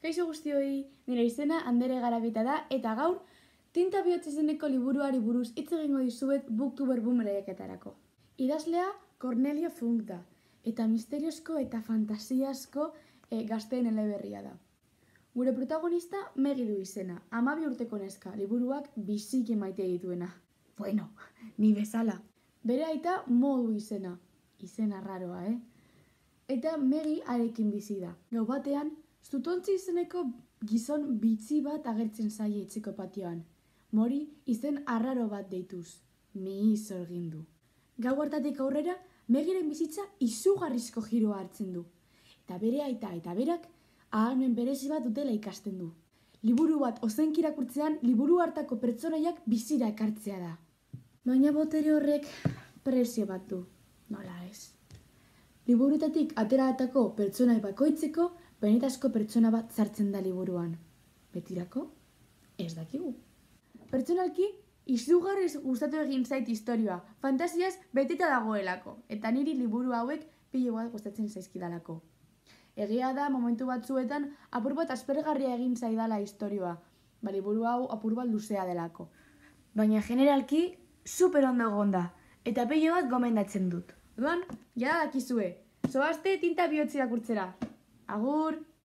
Kaixo guztioi, nire izena Andere Garabita da eta gaur Tinta bihotz izeneko liburuari buruz hitz egingo dizuet Booktuber Boom lehiaketarako. Idazlea Cornelia Funk da eta misteriozko eta fantasiazko gazteen eleberria da. Gure protagonista Megi du izena, 12 urteko neska, liburuak biziki maite dituena. Bueno, ni bezala. Bere aita Mo du izena arraroa, Eta Megi harekin bizi da. Gau batean, Zutontzi izeneko gizon bitzi bat agertzen zaie etxeko patioan. Mori izen arraro bat deituz. Mihi egin du. Gau hartatik aurrera, Megiren bizitza izugarrizko giroa hartzen du. Eta bere aita eta berak ahalmen berezi bat dutela ikasten du. Liburu bat ozenki irakurtzean, liburu hartako pertsonaiak bizira ekartzea da. Baina botere horrek prezio bat du, nola ez. Liburutatik ateratako pertsonai bakoitzeko benetazko pertsona bat sartzen da liburuan. Betirako? Ez dakigu. Pertsonalki, izugarriz gustatu egin zait istorioa, fantasiaz beteta dagoelako, eta niri liburu hauek pilo bat gustatzen zaizkidalako. Egia da, momentu batzuetan, apur bat aspergarria egin zaidala istorioa, liburu hau apur bat luzea delako. Baina generalki, super ondo egon da, eta pilo bat gomendatzen dut. Orduan, jada dakizue, zoazte Tinta bihotz irakurtzera. Agur!